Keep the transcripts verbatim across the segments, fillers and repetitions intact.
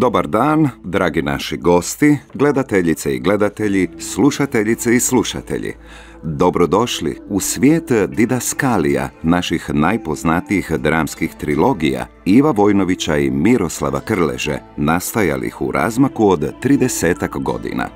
Dobar dan, dragi naši gosti, gledateljice i gledatelji, slušateljice i slušatelji. Dobrodošli u svijet didaskalija naših najpoznatijih dramskih trilogija Iva Vojnovića i Miroslava Krleže, nastajalih u razmaku od tridesetak godina.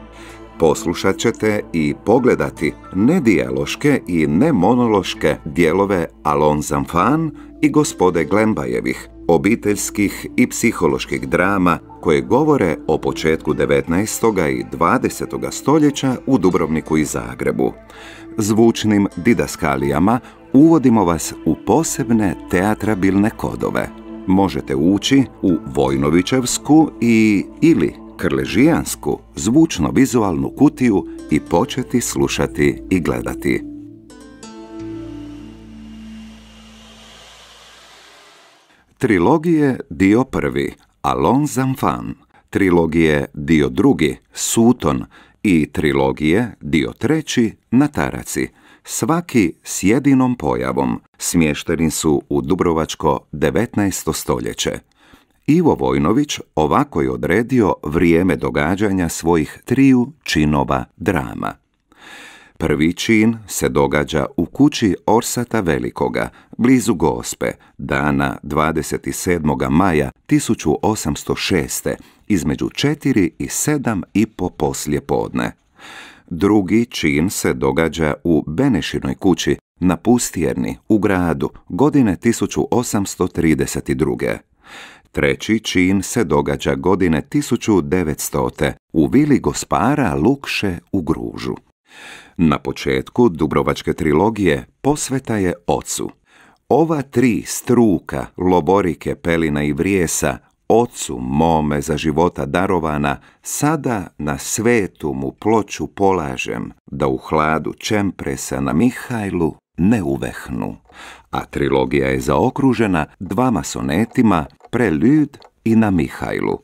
Poslušat ćete i pogledati nedijaloške i nemonološke dijelove Allons enfants i Gospode Glembajevih, obiteljskih i psiholoških drama koje govore o početku devetnaestog i dvadesetog stoljeća u Dubrovniku i Zagrebu. Zvučnim didaskalijama uvodimo vas u posebne teatrabilne kodove. Možete ući u Vojnovićevsku i ili krležijansku zvučno-vizualnu kutiju i početi slušati i gledati. Trilogije dio prvi, Allons enfants, trilogije dio drugi, Suton i trilogije dio treći, Na taraci, svaki s jedinom pojavom, smješteni su u dubrovačko devetnaesto stoljeće. Ivo Vojnović ovako je odredio vrijeme događanja svojih triju činova drama. Prvi čin se događa u kući Orsata Velikoga, blizu Gospe, dana dvadeset sedmog maja tisuću osamsto šeste, između četiri i sedam i po poslije podne. Drugi čin se događa u Benešinoj kući na Pustjerni u gradu, godine tisuću osamsto trideset druge. Treći čin se događa godine tisuću devetstote u vili gospara Lukše u Gružu. Na početku dubrovačke trilogije posveta je ocu. Ova tri struka, Lovorike, Pelina i Vrijesa, ocu mome za života darovana, sada na svetu mu ploču polažem, da u hladu čempresa na Mihajlu ne uvehnu. A trilogija je zaokružena dvama sonetima, Preljud i Na Mihajlu.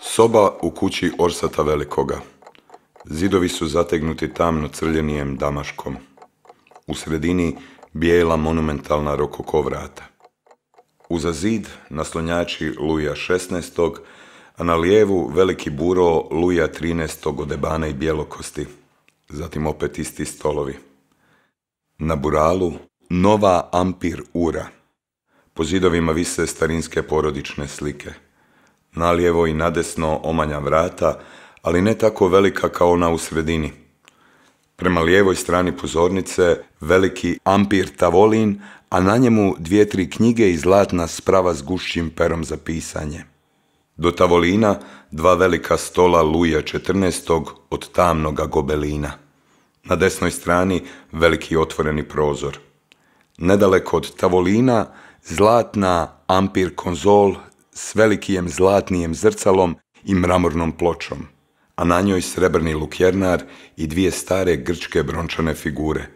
Soba u kući Orsata Velikoga. Zidovi su zategnuti tamno crljenijem damaškom. U sredini bijela monumentalna rokoko vrata. Uza zid naslonjači Luja šesnaestog, a na lijevu veliki buro Luja trinaestog od ebana i bjelokosti. Zatim opet isti stolovi. Na buralu nova ampir ura. Po zidovima vise starinske porodične slike. Nalijevo i nadesno omanja vrata, ali ne tako velika kao ona u sredini. Prema lijevoj strani pozornice veliki ampir tavolin, a na njemu dvije, tri knjige i zlatna sprava s gušćim perom za pisanje. Do tavolina dva velika stola Luja četrnaestog od tamnoga gobelina. Na desnoj strani veliki otvoreni prozor. Nedaleko od tavolina zlatna ampir konzol s velikijem zlatnijem zrcalom i mramornom pločom, a na njoj srebrni lukjernar i dvije stare grčke brončane figure,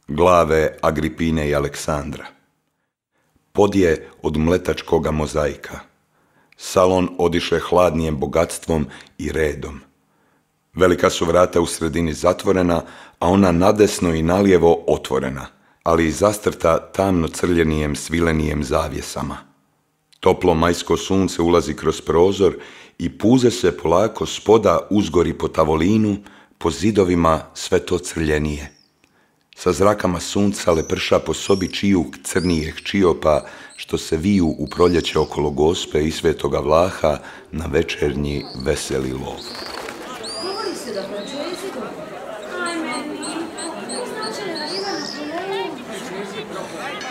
glave Agripine i Aleksandra. Pod je od mletačkoga mozaika. Salon odiše hladnijem bogatstvom i redom. Velika su vrata u sredini zatvorena, a ona nadesno i nalijevo otvorena, ali i zastrta tamno crljenijem svilenijem zavjesama. Toplo majsko sunce ulazi kroz prozor i puze se polako spoda uzgori po tavolinu, po zidovima sve to crljenije. Sa zrakama sunca leprša po sobi čiju crnijeh čiopa, što se viju u proljeće okolo Gospe i Svetoga Vlaha na večernji veseli lov. Govori se da prođe zidom. Ajme, ne znači da ima na problemu.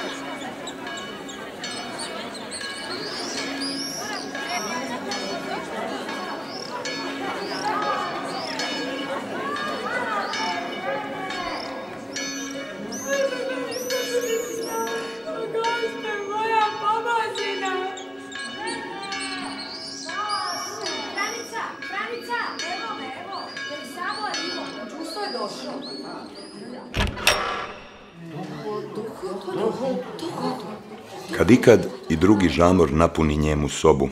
Kad ikad i drugi žamor napuni njemu sobu,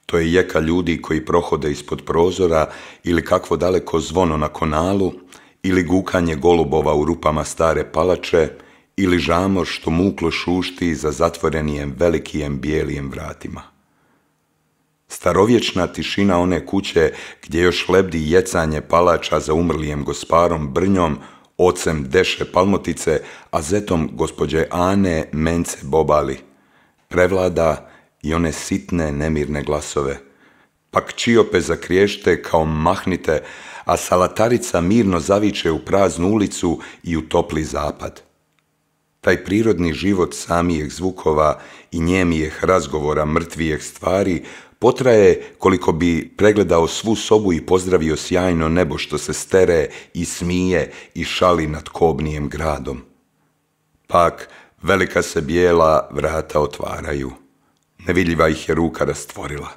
to je jeka ljudi koji prohode ispod prozora ili kakvo daleko zvono na konalu ili gukanje golubova u rupama stare palače, ili žamor što muklo šušti za zatvorenijem velikijem bijelijem vratima. Starovječna tišina one kuće gdje još lebdi jecanje palača za umrlijem gosparom Brnjom, ocem Deše Palmotice, a zetom gospođe Ane Mence Bobali, prevlada i one sitne nemirne glasove. Pak čiope zakriješte kao mahnite, a salatarica mirno zaviče u praznu ulicu i u topli zapad. Taj prirodni život samijeg zvukova i njemijeh razgovora mrtvijeh stvari potraje koliko bi pregledao svu sobu i pozdravio sjajno nebo što se stere i smije i šali nad kobnijem gradom. Pak velika se bijela vrata otvaraju. Nevidljiva ih je ruka rastvorila.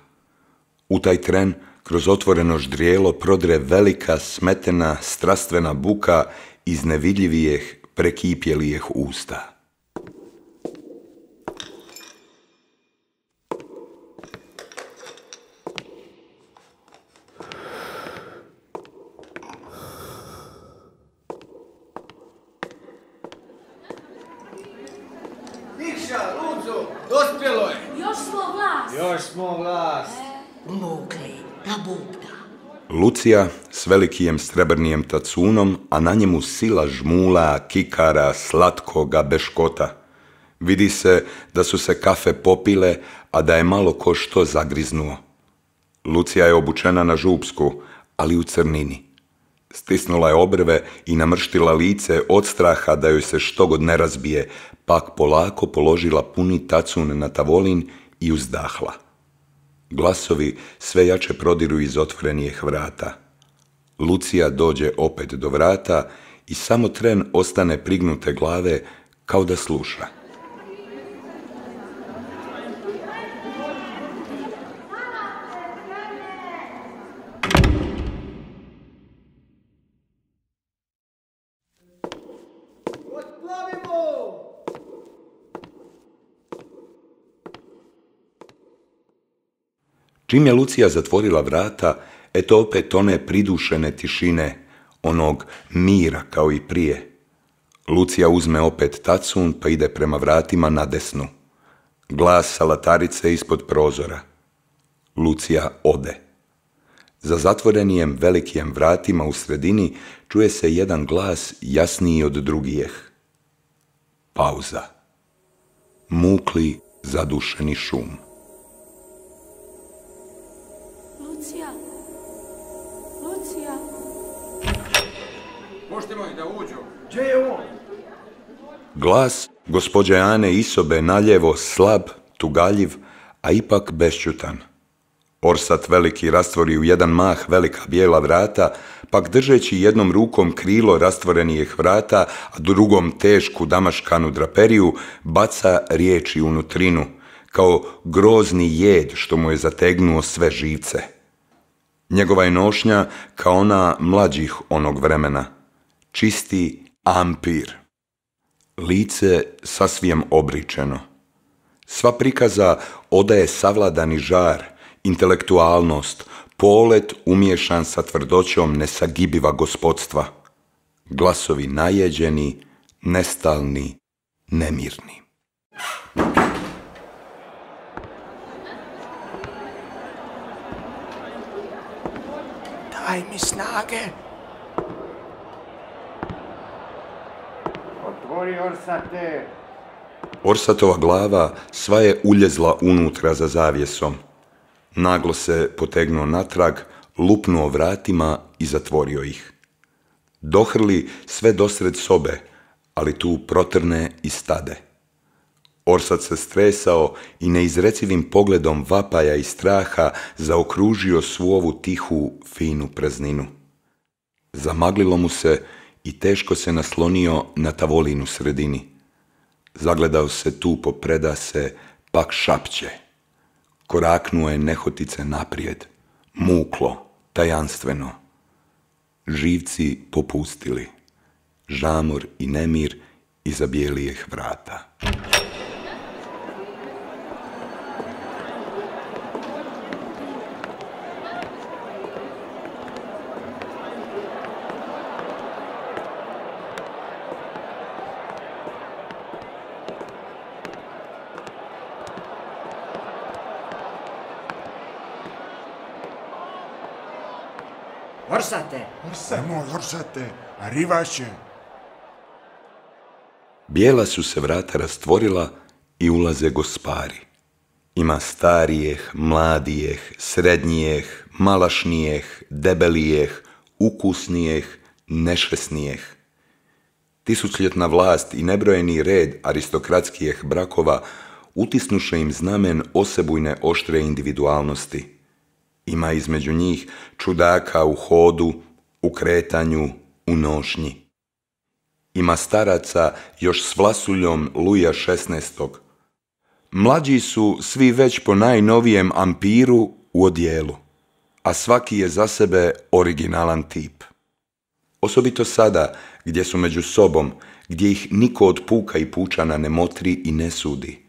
U taj tren kroz otvoreno ždrijelo prodre velika, smetena, strastvena buka iz nevidljivijeh, prekipjelijeh usta. Nikša, Luco, dospjelo je. Još smo vlast. Još smo vlast. Mokli, da bubda. Lucija s velikijem srebrnijem tacunom, a na njemu sila žmula, kikara, slatkoga beškota. Vidi se da su se kafe popile, a da je malo ko što zagriznuo. Lucija je obučena na župsku, ali u crnini. Stisnula je obrve i namrštila lice od straha da joj se štogod ne razbije, pak polako položila puni tacun na tavolin i uzdahla. Glasovi sve jače prodiru iz otvorenijih vrata. Lucija dođe opet do vrata i samo tren ostane prignute glave kao da sluša. Čim je Lucija zatvorila vrata, eto opet one pridušene tišine, onog mira kao i prije. Lucija uzme opet tacun pa ide prema vratima na desnu. Glas salatarice ispod prozora. Lucija ode. Za zatvorenijem velikijem vratima u sredini čuje se jedan glas jasniji od drugijeh. Pauza. Mukli, zadušeni šum. Lucija. Lucija. Puštimo ih da uđu. Gdje je on? Glas gospođe Ane Isobe naljevo slab, tugaljiv, a ipak bešćutan. Orsat veliki rastvori u jedan mah velika bijela vrata, pak držeći jednom rukom krilo rastvorenijih vrata, a drugom tešku damaškanu draperiju, baca riječi unutrinu, kao grozni jed što mu je zategnuo sve živce. Njegova je nošnja kao ona mlađih onog vremena, čisti ampir. Lice sasvim obričeno. Sva prikaza odaje savladani žar, intelektualnost, polet umiješan sa tvrdoćom nesagibiva gospodstva. Glasovi najeđeni, nestalni, nemirni. Daj mi snage. Otvori, Orsate. Orsatova glava sva je uljezla unutra za zavjesom. Naglo se potegnuo natrag, lupnuo vratima i zatvorio ih. Dohrli sve dosred sobe, ali tu protrne i stade. Orsat se stresao i neizrecivim pogledom vapaja i straha zaokružio svu ovu tihu, finu prazninu. Zamaglilo mu se i teško se naslonio na tavolinu u sredini. Zagledao se tu po predase, pak šapće. Koraknuo je nehotice naprijed, muklo, tajanstveno. Živci popustili, žamor i nemir iza bijelijeh vrata. Orsate! Nemoj, Orsate, arrivaše. Bijela su se vrata rastvorila i ulaze gospari. Ima starijeh, mladijeh, srednjijeh, malašnijeh, debelijeh, ukusnijeh, nešesnijeh. Tisućljetna vlast i nebrojeni red aristokratskijeh brakova utisnuše im znamen osebujne oštre individualnosti. Ima između njih čudaka u hodu, u kretanju, u nošnji. Ima staraca još s vlasuljom Luja šesnaestog. Mlađi su svi već po najnovijem ampiru u odjelu, a svaki je za sebe originalan tip. Osobito sada, gdje su među sobom, gdje ih niko od puka i pučana ne motri i ne sudi.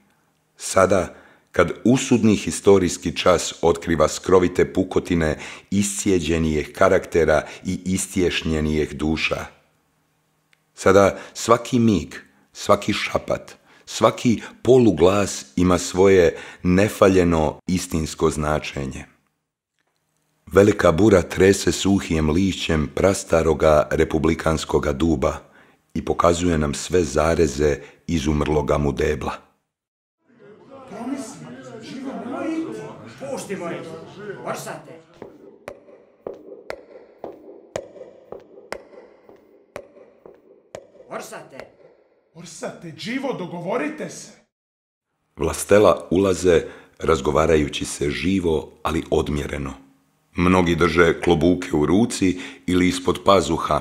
Sada, kad usudni historijski čas otkriva skrovite pukotine iscijeđenijih karaktera i istješnjenijih duša. Sada svaki mig, svaki šapat, svaki poluglas ima svoje nefaljeno istinsko značenje. Velika bura trese suhijem lišćem prastaroga republikanskoga duba i pokazuje nam sve zareze izumrloga mu debla. Puštimo ih! Orsate! Orsate! Orsate, Đivo, dogovorite se. Vlastela ulaze razgovarajući se živo, ali odmjereno. Mnogi drže klobuke u ruci ili ispod pazuha,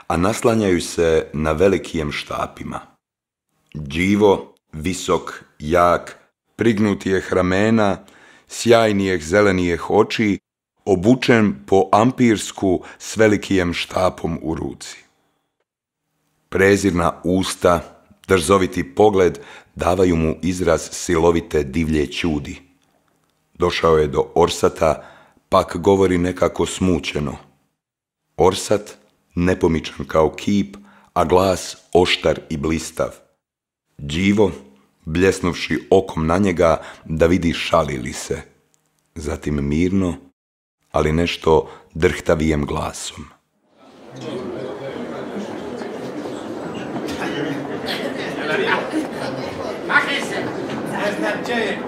a naslanjaju se na velikijem štapima. Đivo, visok, jak, prignutijeh ramena, sjajnijeh zelenijeh oči, obučen po ampirsku s velikijem štapom u ruci. Prezirna usta, drzoviti pogled davaju mu izraz silovite divlje ćudi. Došao je do Orsata, pak govori nekako smućeno. Orsat, nepomičan kao kip, a glas oštar i blistav. Đivo, bljesnuvši okom na njega da vidi šali li se. Zatim mirno, ali nešto drhtavijem glasom. Makni se! Ne znam gdje je.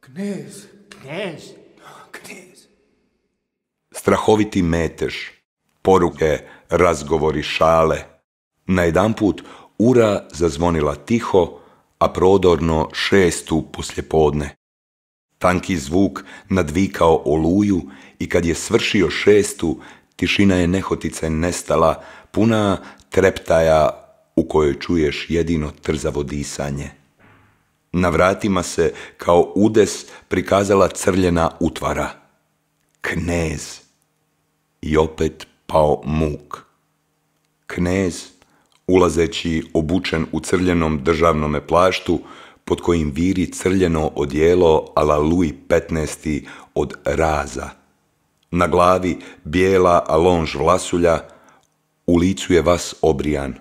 Knez. Knez! Knez. Strahoviti metež, poruke, razgovori, šale. Najedanput ura zazvonila tiho, a prodorno šestu poslijepodne. Tanki zvuk nadvikao oluju i kad je svršio šestu, tišina je nehotice nestala, puna treptaja u kojoj čuješ jedino trzavo disanje. Na vratima se kao udes prikazala crljena utvara. Knez. I opet pao muk. Knez, ulazeći obučen u crljenom državnome plaštu, pod kojim viri crljeno odijelo ala Luj petnaesti od raza. Na glavi bijela alonž vlasulja, u licu je vas obrijan.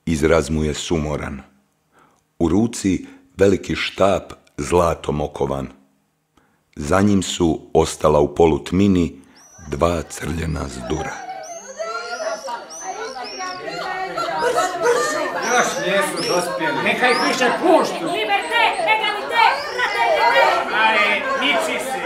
Izraz mu je sumoran. U ruci veliki štap zlatom okovan. Za njim su ostala u polutmini dva crljena zdura. Još nisu dospjeli. Neka ih više puštu. Liberté, égalité, fraternité! Aj, niči se.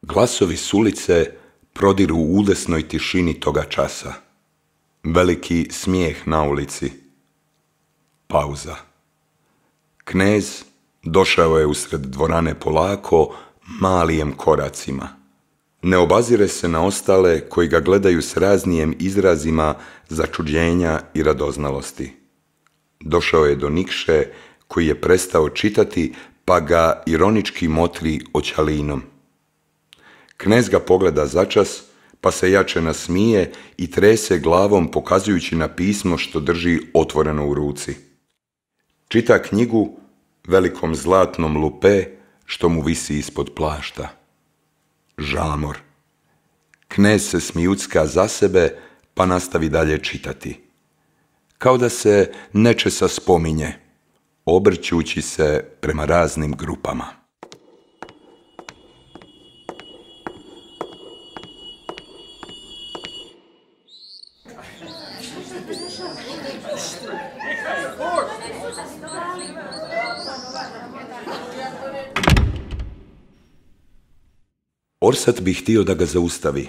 Glasovi s ulice prodiru u udesnoj tišini toga časa. Veliki smijeh na ulici. Pauza. Knez, Došao je usred dvorane polako, malijem koracima. Ne obazire se na ostale koji ga gledaju s raznijem izrazima začuđenja i radoznalosti. Došao je do Nikše koji je prestao čitati pa ga ironički motri očalinom. Knez ga pogleda začas pa se jače nasmije i trese glavom pokazujući na pismo što drži otvoreno u ruci. Čita knjigu velikom zlatnom lupe što mu visi ispod plašta. Žamor. Knez se smijucka za sebe pa nastavi dalje čitati. Kao da se nečesa spominje, obrćući se prema raznim grupama. Orsat bi htio da ga zaustavi.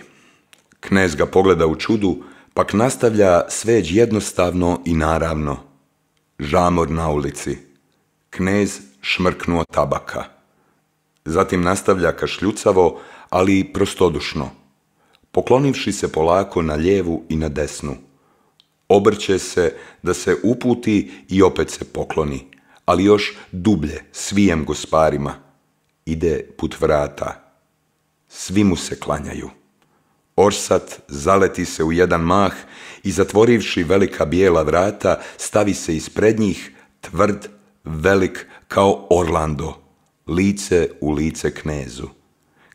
Knez ga pogleda u čudu, pak nastavlja sveć jednostavno i naravno. Žamor na ulici. Knez šmrknuo tabaka. Zatim nastavlja kašljucavo, ali prostodušno. Poklonivši se polako na lijevu i na desnu. Obrće se da se uputi i opet se pokloni, ali još dublje, svijem gosparima. Ide put vrata. Svi mu se klanjaju. Orsat zaleti se u jedan mah i zatvorivši velika bijela vrata, stavi se ispred njih, tvrd, velik kao Orlando, lice u lice knezu.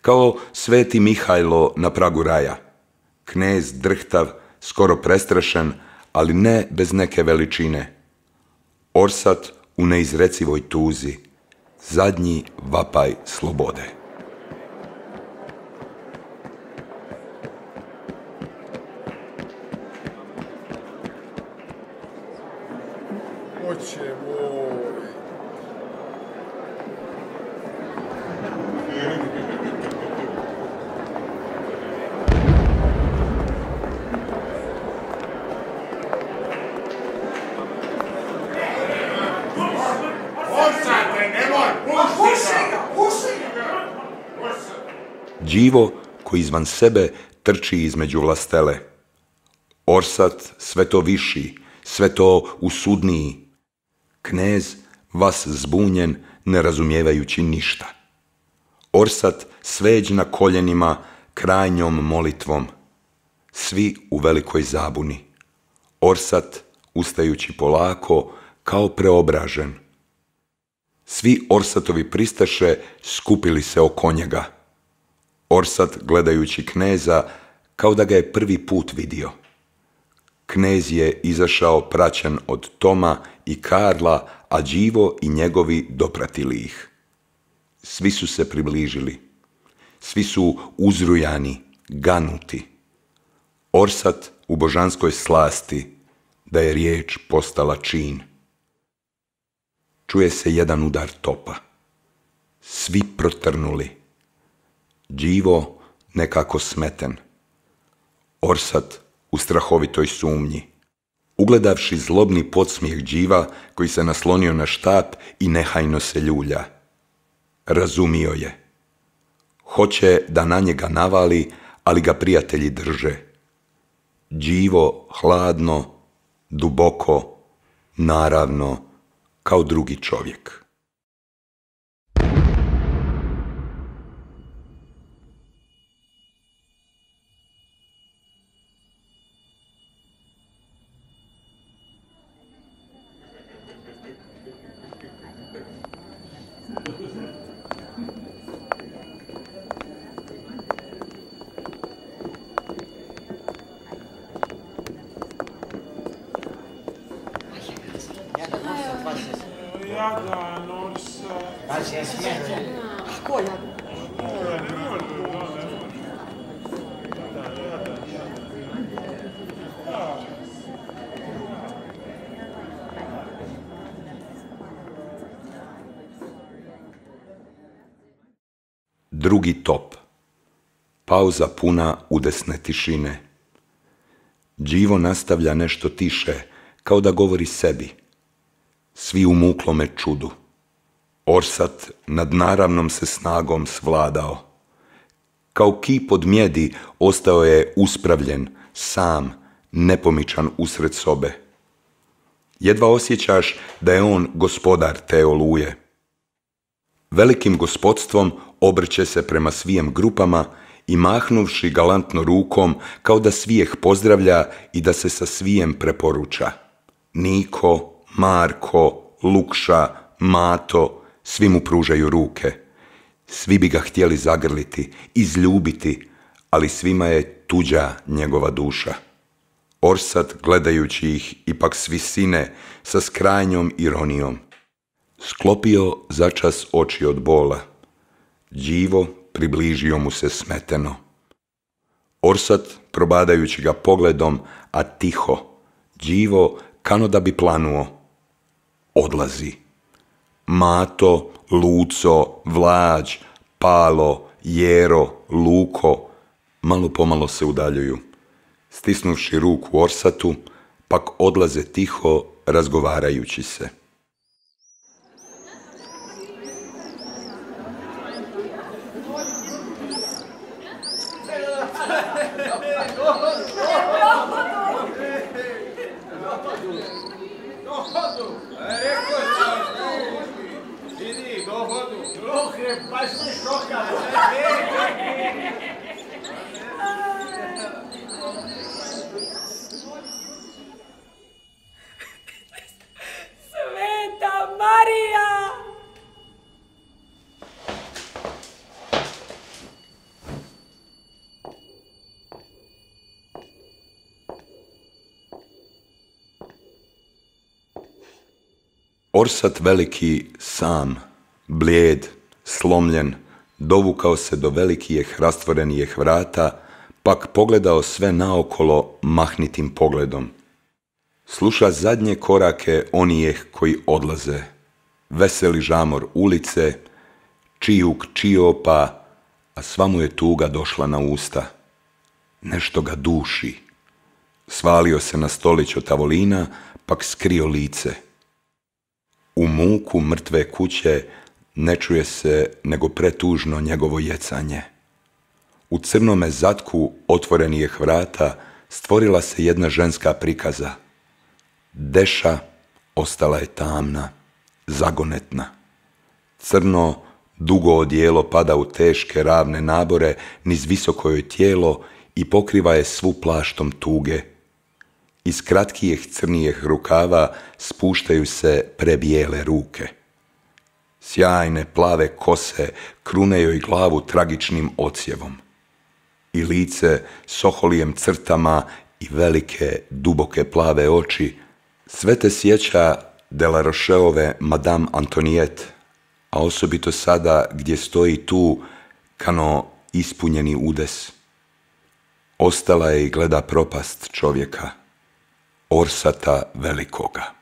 Kao sveti Mihajlo na pragu raja. Knez drhtav, skoro prestrašen, ali ne bez neke veličine. Orsat u neizrecivoj tuzi, zadnji vapaj slobode. Oče moj. Orsate, nemoj, pusti ga! Đivo koji izvan sebe trči između vlastele. Orsat sve to viši, sve to usudniji. Knez vas zbunjen, ne razumijevajući ništa. Orsat sveđ na koljenima, krajnjom molitvom. Svi u velikoj zabuni. Orsat ustajući polako, kao preobražen. Svi Orsatovi pristaše skupili se oko njega. Orsat gledajući kneza, kao da ga je prvi put vidio. Knez je izašao praćen od Toma i Karla, a Đivo i njegovi dopratili ih. Svi su se približili. Svi su uzrujani, ganuti. Orsat u božanskoj slasti, da je riječ postala čin. Čuje se jedan udar topa. Svi protrnuli. Đivo nekako smeten. Orsat u strahovitoj sumnji. Ugledavši zlobni podsmijeh Điva koji se naslonio na štap i nehajno se ljulja. Razumio je. Hoće da na njega navali, ali ga prijatelji drže. Đivo hladno, duboko, naravno, kao drugi čovjek. Jadan, Orsat. Pa se smije. A ko jadan? Drugi top. Pauza puna udesne tišine. Đivo nastavlja nešto tiše, kao da govori sebi. Svi u muklome čudu. Orsat nad naravnom se snagom svladao. Kao kip od mjedi ostao je uspravljen, sam, nepomičan usred sobe. Jedva osjećaš da je on gospodar te oluje. Velikim gospodstvom obrće se prema svijem grupama i mahnuvši galantno rukom kao da svijeh pozdravlja i da se sa svijem preporuča. Niko, Marko, Lukša, Mato, svi mu pružaju ruke. Svi bi ga htjeli zagrliti, izljubiti, ali svima je tuđa njegova duša. Orsat, gledajući ih, ipak s visine, sa skrajnjom ironijom. Sklopio začas oči od bola. Đivo približio mu se smeteno. Orsat, probadajući ga pogledom, a tiho, Đivo kano da bi planuo. Odlazi. Mato, Luco, Vlađ, Palo, Jero, Luko, malo pomalo se udaljuju. Stisnuvši ruku Orsatu, pak odlaze tiho, razgovarajući se. Sveta Marija! Orsat veliki sam, blijed, slomljen, dovukao se do velikijeh rastvorenijeh vrata, pak pogledao sve naokolo mahnitim pogledom. Sluša zadnje korake onijeh koji odlaze, veseli žamor ulice, čijuk čiopa, a sva mu je tuga došla na usta. Nešto ga duši. Svalio se na stolić od tavolina, pak skrio lice. U muku mrtve kuće ne čuje se nego pretužno njegovo jecanje. U crnome zatku otvorenijeh vrata stvorila se jedna ženska prikaza. Deša ostala je tamna, zagonetna. Crno, dugo odijelo pada u teške ravne nabore niz visoko joj tijelo i pokriva je svu plaštom tuge. Iz kratkijeh crnijeh rukava spuštaju se prebijele ruke. Sjajne plave kose krune joj glavu tragičnim odsjevom. I lice s oholijem crtama i velike, duboke plave oči sve te sjeća de la Rocheove Madame Antoniette, a osobito sada gdje stoji tu kano ispunjeni udes. Ostala je i gleda propast čovjeka, Orsata velikoga.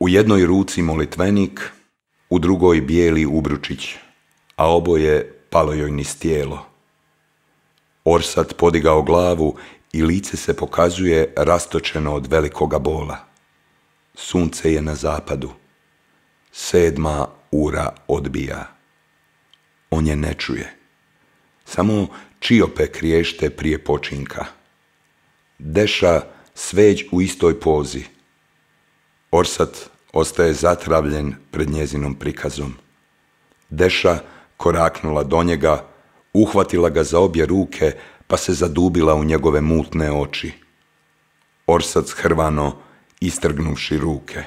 U jednoj ruci molitvenik, u drugoj bijeli ubručić, a oboje palo joj niz tijelo. Orsat podigao glavu i lice se pokazuje rastočeno od velikoga bola. Sunce je na zapadu. Sedma ura odbija. On je ne čuje. Samo čiope kriješte prije počinka. Deša sveđ u istoj pozi. Orsat ostaje zatravljen pred njezinom prikazom. Deša koraknula do njega, uhvatila ga za obje ruke, pa se zadubila u njegove mutne oči. Orsat shrvano, istrgnuvši ruke.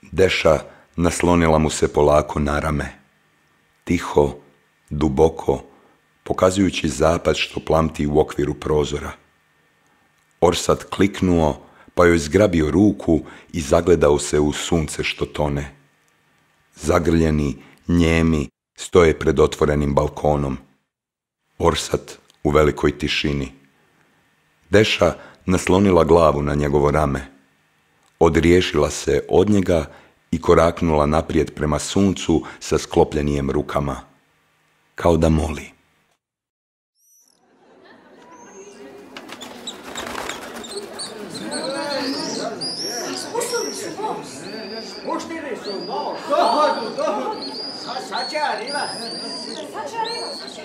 Deša naslonila mu se polako na rame. Tiho, duboko, pokazujući zapad što plamti u okviru prozora. Orsat kliknuo, pa joj zgrabio ruku i zagledao se u sunce što tone. Zagrljeni, njemi, Stoje pred otvorenim balkonom. Orsat u velikoj tišini. Deša naslonila glavu na njegovo rame. Odriješila se od njega i koraknula naprijed prema suncu sa sklopljenijim rukama, kao da moli. Spustili su most. Puštili su most. Dohodu, dohodu. Sad će arriva. Sad će arriva, sad će.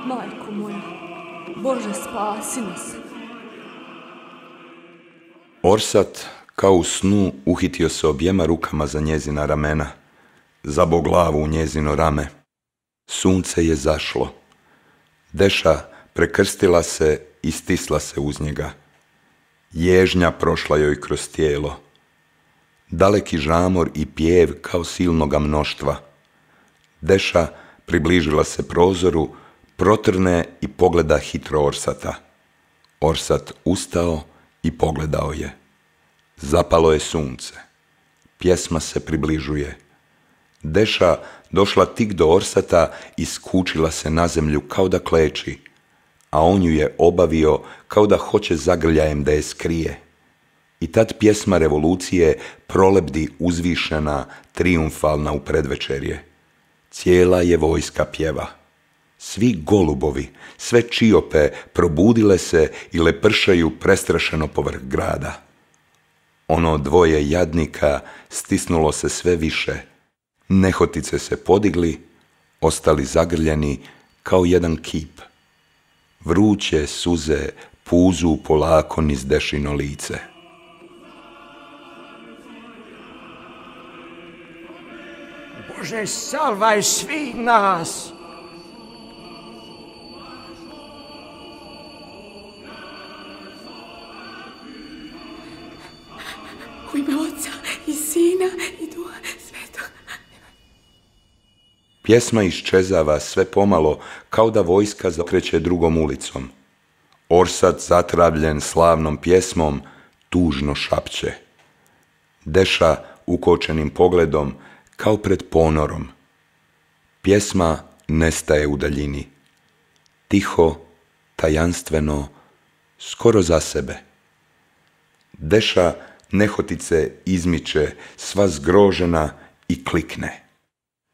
Majko moja, Bože, spasi nas. Orsat, kao u snu, uhitio se objema rukama za njezina ramena, zabao glavu u njezino rame. Sunce je zašlo. Deša prekrstila se i stisla se uz njega. Ježnja prošla joj kroz tijelo. Daleki žamor i pjev kao silnoga mnoštva. Deša približila se prozoru, protrne i pogleda hitro Orsata. Orsat ustao i pogledao je. Zapalo je sunce. Pjesma se približuje. Deša došla tik do Orsata i skučila se na zemlju kao da kleči, a on ju je obavio kao da hoće zagrljajem da je skrije. I tad pjesma revolucije prolebdi uzvišena, triumfalna u predvečerje. Cijela je vojska pjeva. Svi golubovi, sve čiope probudile se i lepršaju prestrašeno povrh grada. Ono dvoje jadnika stisnulo se sve više. Nehotice se podigli, ostali zagrljeni kao jedan kip. Vruće suze puzu polako niz Dešino lice. Bože, salvaj svih nas. U ime Oca i Sina i Duha Svetog. Pjesma iščezava sve pomalo, kao da vojska zakreće drugom ulicom. Orsat, zatravljen slavnom pjesmom, tužno šapće. Deša ukočenim pogledom, kao pred ponorom. Pjesma nestaje u daljini. Tiho, tajanstveno, skoro za sebe. Deša nehotice izmiče, sva zgrožena, i klikne.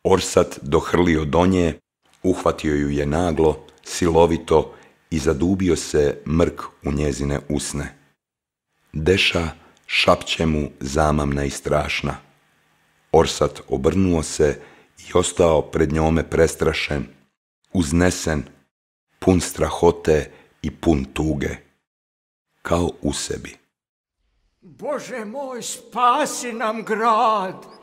Orsat dohrlio do nje, uhvatio ju je naglo, silovito i zadubio se mrk u njezine usne. Deša šapće mu zamamna i strašna. Orsat obrnuo se i ostao pred njome prestrašen, uznesen, pun strahote i pun tuge, kao u sebi. Bože moj, spasi nam grad.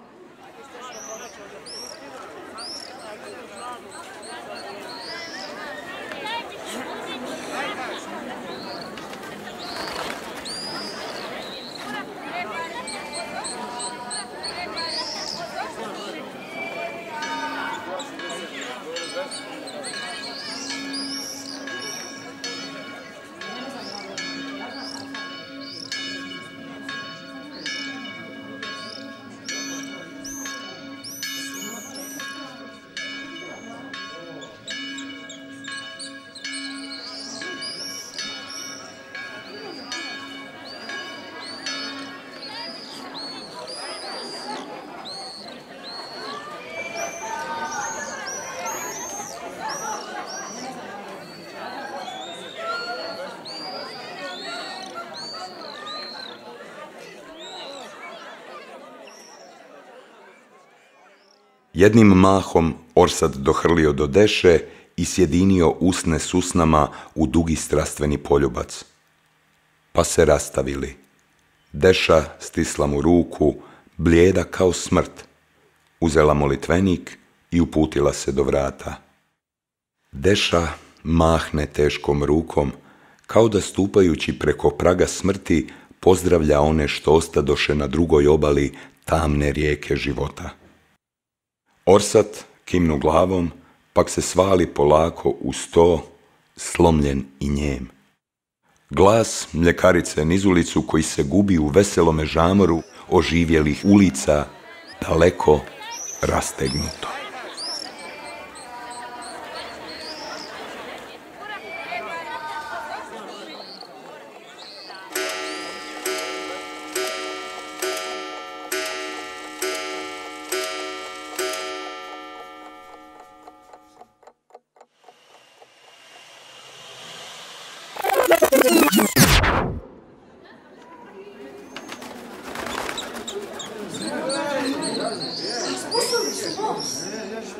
Jednim mahom Orsat dohrlio do Deše i sjedinio usne s usnama u dugi strastveni poljubac. Pa se rastavili. Deša stisla mu ruku, blijeda kao smrt, uzela molitvenik i uputila se do vrata. Deša mahne teškom rukom, kao da stupajući preko praga smrti pozdravlja one što ostadoše na drugoj obali tamne rijeke života. Orsat kimnu glavom, pak se svali polako u sto, slomljen i njem. Glas mljekarice niz ulicu koji se gubi u veselome žamoru oživjelih ulica, daleko rastegnuto.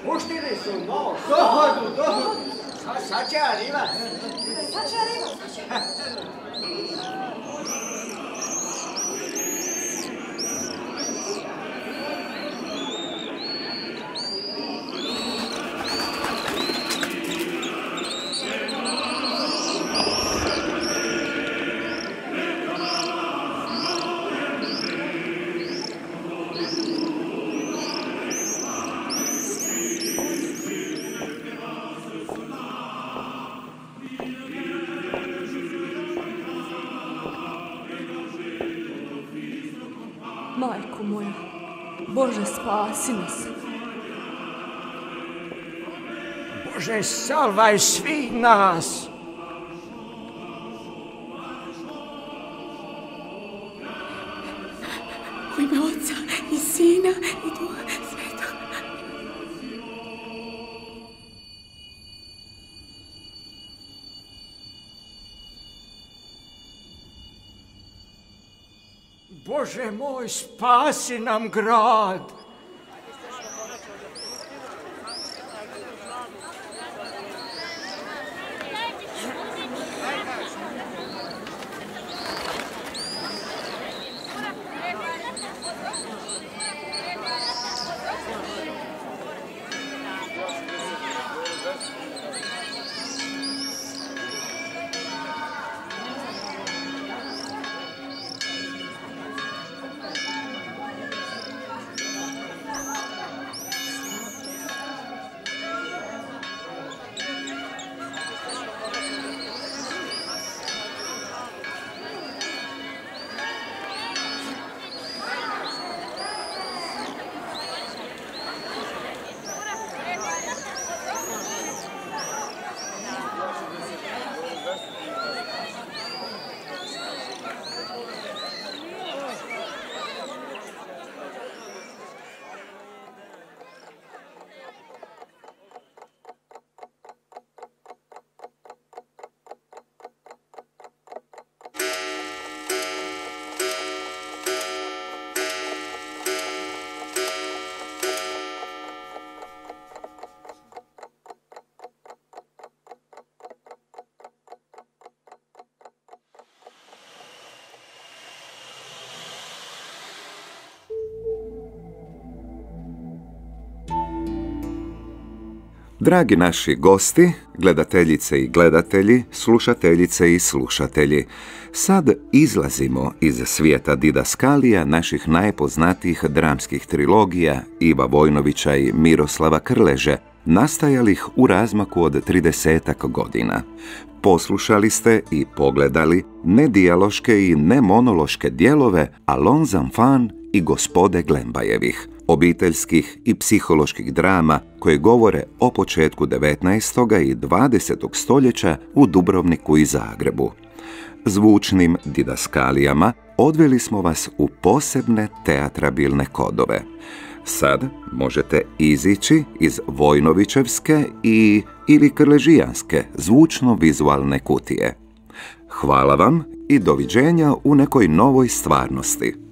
Puštili su nos. Dohodu, dohodu. Sad će arriva. Sad će arriva. Majko moja, Bože, spasi nas. Bože, salvaj svih nas. U ime Oca i Sina i Duha Svetog. Bože moj, spasi nam grad. Dragi naši gosti, gledateljice i gledatelji, slušateljice i slušatelji, sad izlazimo iz svijeta didaskalija naših najpoznatijih dramskih trilogija Iva Vojnovića i Miroslava Krleže, nastajalih u razmaku od tridesetak godina. Poslušali ste i pogledali nedijaloške i nemonološke dijelove Allons enfants i Gospode Glembajevih, obiteljskih i psiholoških drama koje govore o početku devetnaestog i dvadesetog stoljeća u Dubrovniku i Zagrebu. Zvučnim didaskalijama odveli smo vas u posebne teatrabilne kodove. Sad možete izići iz Vojnovićevske i ili krležijanske zvučno-vizualne kutije. Hvala vam i doviđenja u nekoj novoj stvarnosti.